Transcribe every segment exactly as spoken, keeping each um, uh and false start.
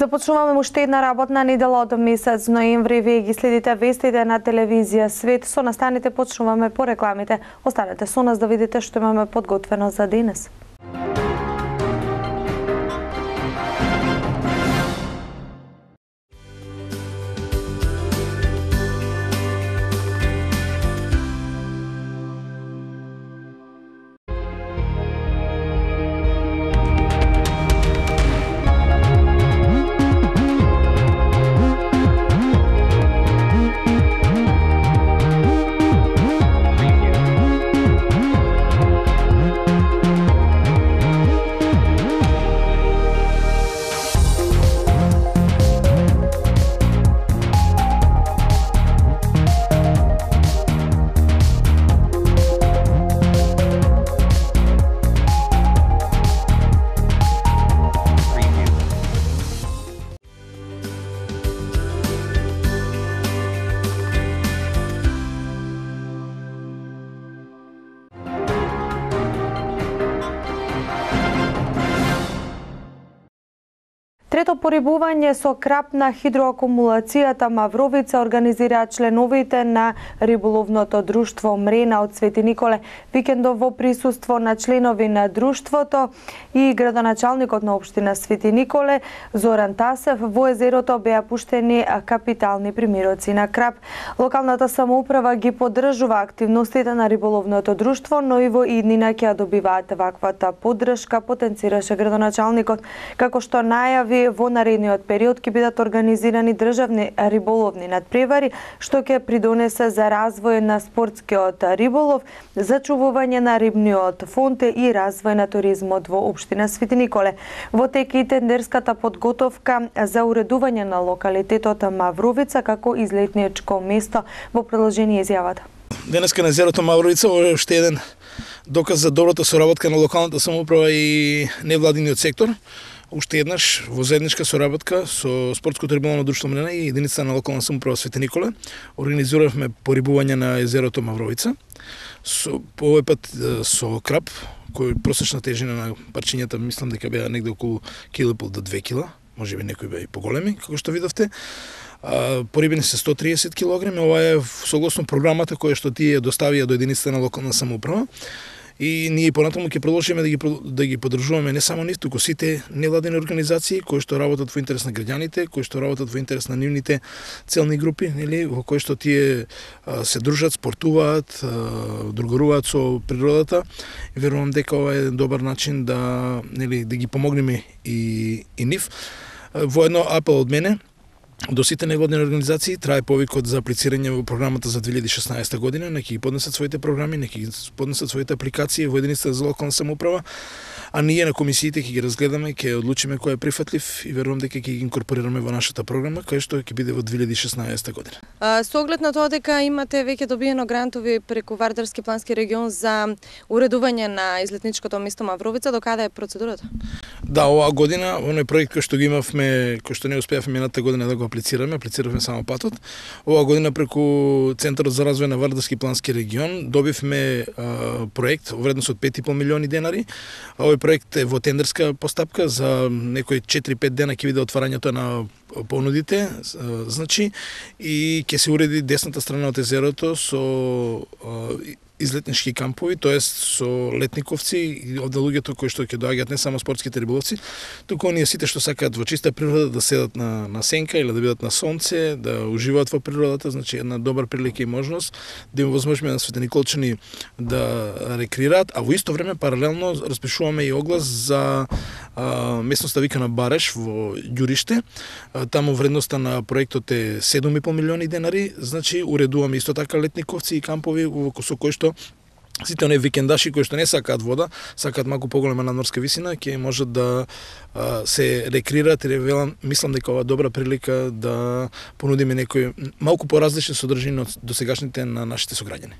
Започнуваме уште една работна недела од месец ноември. Вие ги следите вестите на телевизија Свет. Со настаните почнуваме по рекламите. Останете со нас да видите што имаме подготвено за денес. Трето порибување со крап на хидроакумулацијата Мавровица организираа членовите на риболовното друштво Мрена од Свети Николе. Викендов во присуство на членови на друштвото и градоначалникот на општина Свети Николе Зоран Тасев во езерото беа пуштени капитални примироци на крап. Локалната самоуправа ги поддржува активностите на риболовното друштво, но и во иднина ќе добиваат ваквата поддршка, потенцираше градоначалникот, како што најави во наредниот период ќе бидат организирани државни риболовни надпревари, што ќе придонесе за развој на спортскиот риболов, зачувување на рибниот фонд и развој на туризмот во општина Свети Николе. Во тек и тендерската подготовка за уредување на локалитетот Мавровица како излетничко место. Во продолжение изјавата. Денеска на езерото Мавровица е уште еден доказ за добрата соработка на локалната самоуправа и невладиниот сектор. Уште еднаш во заедничка соработка со спортското риболовно друштво Мрена и единицата на локална самоуправа Свети Николе организиравме порибување на езерото Мавровица. Со, по овој пат со крап, кој просечна тежина на парчињата мислам дека беа негде околу кило и пол до две кила, можеби некои беа и поголеми, како што видовте. А, порибени се сто триесет килограми, ова е согласно програмата која што тие доставија до единицата на локална самоуправа. И ние понатаму ќе продолжиме да ги да ги поддржуваме не само нив, туку сите невладени организации кои што работат во интерес на граѓаните, кои што работат во интерес на нивните целни групи, нели, во кои што тие а, се дружат, спортуваат, а, другаруваат со природата. И верувам дека ова е добар начин да, нели, да ги помогнеме и и нив. Во едно апел од мене до сите невладени организации трае повикот за аплицирање во програмата за две илјади и шеснаесета година, нека ги поднесат своите програми, нека ги поднесат своите апликации во единицата за локална самоуправа, а ние на комисиите ќе ги разгледаме, ќе одлучиме кој е прифатлив и верувам дека ќе ги инкорпорираме во нашата програма, кај што ќе биде во две илјади и шеснаесета година. А, со оглед на тоа дека имате веќе добиено грантови преку Вардарски плански регион за уредување на излетничкото место Мавровица, до каде е процедурата? Да, оваа година, оној проект кој што го имавме, кој што не успеавме минатата година да го аплицираме, аплициравме само патот. Оваа година преку Центарот за развој на Вардарски плански регион добивме а, проект во вредност од пет и пол милиони денари. Овој проект е во тендерска постапка, за некои четири-пет дена ќе биде отварањето на понудите, значи, и ќе се уреди десната страна од езерото со излетнички кампови, тоест со летниковци и од луѓето кои што ќе доаѓаат не само спортските риболовци, туку оние сите што сакаат во чиста природа да седат на на сенка или да бидат на сонце, да уживаат во природата, значи една добра прилика и можност да им возможиме на светениколчани да рекреираат, а во исто време паралелно распишуваме и оглас за а, местноста викана Бареш во Ѓуриште. А, таму вредноста на проектот е седум и пол милиони денари, значи уредуваме исто така летниковци и кампови во со кои што сите оние викендаши кои што не сакаат вода, сакаат малку поголема надморска висина, ќе можат да а, се рекреираат и велам, мислам дека ова добра прилика да понудиме некои малку поразлични содржини од досегашните на нашите сограѓани.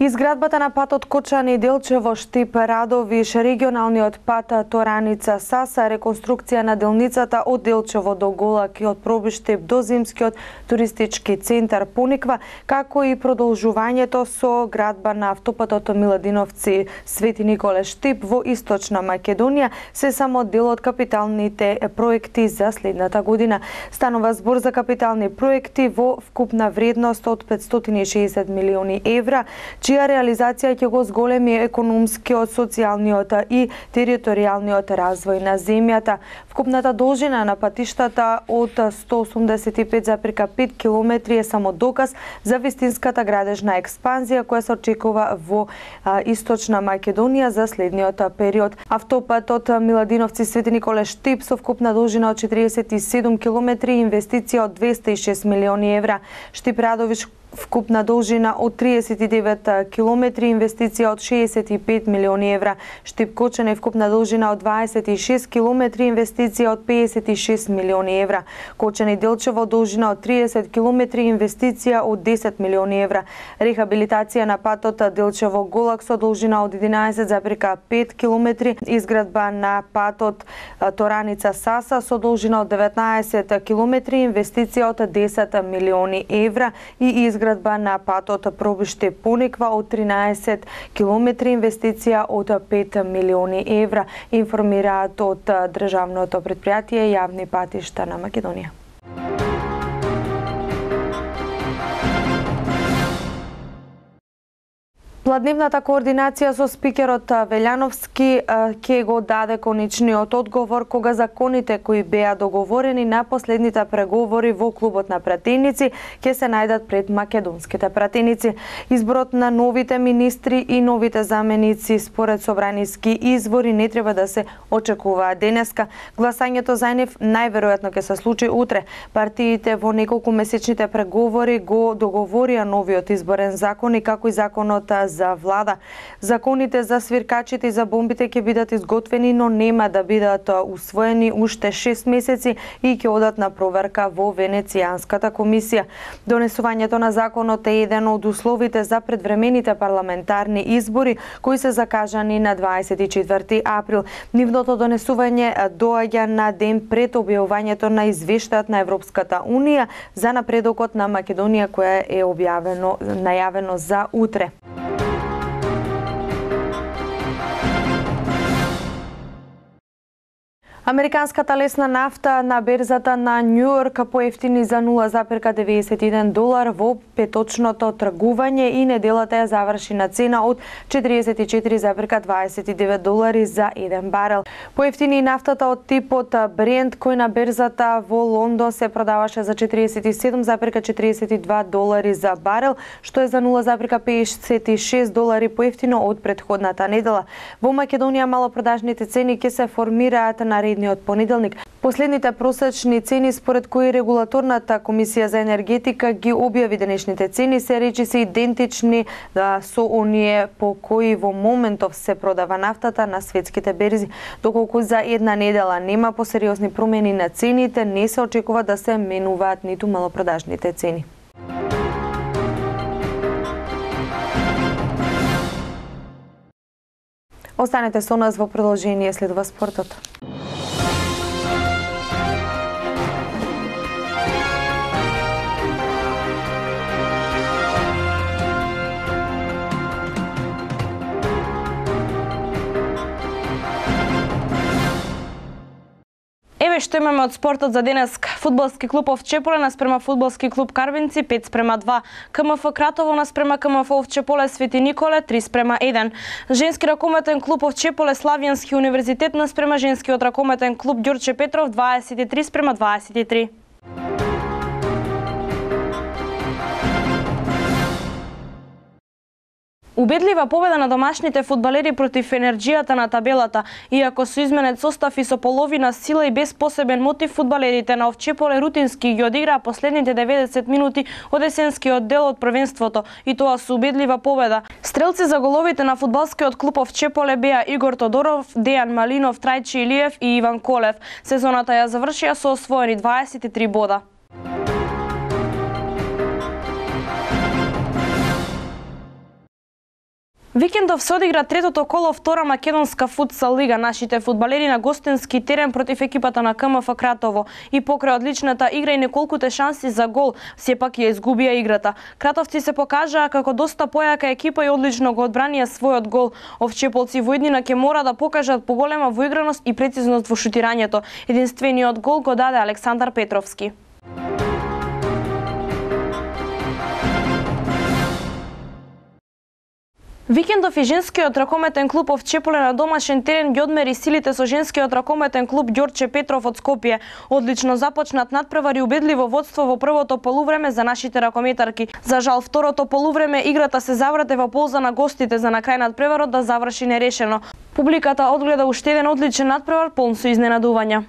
Изградбата на патот Кочани Делчево Штип Радовиш, регионалниот пат Тораница Саса, реконструкција на делницата од Делчево до Голакиот пробиштип до Зимскиот туристички центар Пониква, како и продолжувањето со градба на автопатот Миладиновци Свети Николе Штип во Источна Македонија се само дел од капиталните проекти за следната година. Станува збор за капитални проекти во вкупна вредност од петстотини и шеесет милиони евра, чија реализација ќе го зголеми економскиот, социјалниот и територијалниот развој на земјата. Вкупната должина на патиштата од сто осумдесет и пет запирка пет километри е само доказ за вистинската градежна експанзија која се очекува во а, Источна Македонија за следниот период. Автопатот Миладиновци Свети Николе Штип со вкупна должина од четиридесет и седум километри и инвестиција од двесте и шест милиони евра. Штип Радовиш вкупна должина од триесет и девет километри, инвестиција од шеесет и пет милиони евра. Штип Кочани вкупна должина од дваесет и шест километри, инвестиција од педесет и шест милиони евра. Кочани Делчево должина од триесет километри, инвестиција од десет милиони евра. Рехабилитација на патот Делчево Голак со должина од единаесет запирка пет километри, изградба на патот Тораница Саса со должина од деветнаесет километри, инвестиција од десет милиони евра и изградба Изградба на патот пробиштип Пониква од тринаесет километри, инвестиција од пет милиони евра, информираат од државното претпријатие Јавни патишта на Македонија. Пладневната координација со спикерот Велјановски ќе го даде конечниот одговор кога законите кои беа договорени на последните преговори во клубот на пратеници ќе се најдат пред македонските пратеници. Изборот на новите министри и новите заменици според собраниски извори не треба да се очекуваат денеска. Гласањето за нив најверојатно ќе се случи утре. Партиите во неколку месечните преговори го договорија новиот изборен закон и како и законот за влада. Законите за свиркачите и за бомбите ќе бидат изготвени, но нема да бидат усвоени уште шест месеци и ќе одат на проверка во Венецијанската комисија. Донесувањето на законот е еден од условите за предвремените парламентарни избори кои се закажани на дваесет и четврти април. Нивното донесување доаѓа на ден пред објавувањето на извештајот на Европската унија за напредокот на Македонија која е објавено најавено за утре. Американската лесна нафта на берзата на Њујорк поевтини за нула запирка деветдесет и еден долар во петочното тргување и неделата ја заврши на цена од четиридесет и четири запирка дваесет и девет долари за еден барел. Поевтини и нафтата од типот Брент кој на берзата во Лондон се продаваше за четиридесет и седум запирка четиридесет и два долари за барел, што е за нула запирка педесет и шест долари поевтино од претходната недела. Во Македонија малопродажните цени ќе се формираат на наредниот понеделник. Последните просечни цени според кои регулаторната комисија за енергетика ги објави денешните цени се речиси идентични да, со оние по кои во моментов се продава нафтата на светските берзи. Доколку за една недела нема посериозни промени на цените, не се очекува да се менуваат ниту малопродажните цени. Останете со нас, во продолжение следува спортот. Еве што имаме од спортот за денес. Фудбалски клуб Овчеполе наспрема фудбалски клуб Карвинци пет спрема два. КМФ Кратово наспрема КМФ Овчеполе Свети Николе три спрема еден. Женски ракометен клуб Овчеполе Славјански универзитет наспрема женскиот ракометен клуб Ѓорче Петров дваесет и три спрема дваесет и три. Убедлива победа на домашните фудбалери против енерџијата на табелата. Иако со изменет состав и со половина сила и без посебен мотив, фудбалерите на Овчеполе рутински ги одиграа последните деветдесет минути од есенскиот дел од првенството, и тоа со убедлива победа. Стрелци за головите на фудбалскиот клуб Овчеполе беа Игор Тодоров, Дејан Малинов, Трајчи Илиев и Иван Колев. Сезоната ја завршија со освоени дваесет и три бода. Викендов се одигра третото коло втора македонска футсал лига. Нашите фудбалери на гостински терен против екипата на КМФ Кратово и покрај одличната игра и неколкуте шанси за гол, сепак ја изгубија играта. Кратовци се покажаа како доста појака екипа и одлично го одбранија својот гол. Овчеполци во иднина ќе мора да покажат поголема воиграност и прецизност во шутирањето. Единствениот гол го даде Александар Петровски. Викендов и женскиот ракометен клуб Овчеполе на домашен терен ги одмери силите со женскиот ракометен клуб Ѓорче Петров од Скопје. Одлично започнат надпревар и убедливо водство во првото полувреме за нашите ракометарки. За жал, второто полувреме играта се заврте во полза на гостите за на крај надпреварот да заврши нерешено. Публиката одгледа уште еден одличен надпревар полн со изненадувања.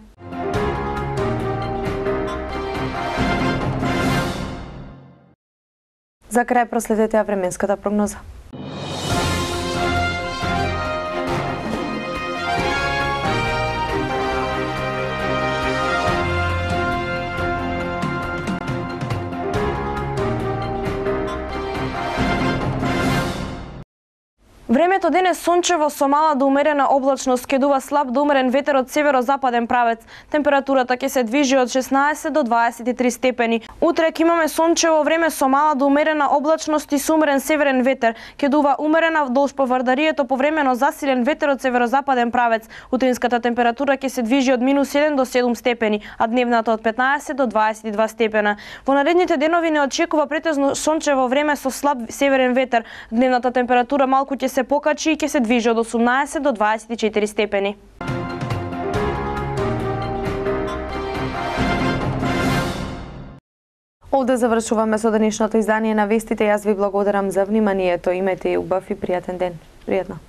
За крај проследете ја временската прогноза. Времето денес сончево со мала до умерена облачност, ке дува слаб до умерен ветер од северо-западен правец. Температурата ќе се движи од шеснаесет до дваесет и три степени. Утре ќе имаме сончево време со мала до умерена облачност и со умерен северен ветер. Ке дува умерена вдолж по Вардарието повремено засилен ветер од северо-западен правец. Утринската температура ќе се движи од минус еден до седум степени, а дневната од петнаесет до дваесет и два степена. Во наредните денови не очекува претежно сончево време со слаб северен ветер. Дневната температура малку ќе се покачи и ќе се движи од осумнаесет до дваесет и четири степени. Овде завршуваме со денешното издание на вестите. Јас ви благодарам за вниманието. Имете и убав и пријатен ден. Пријатно.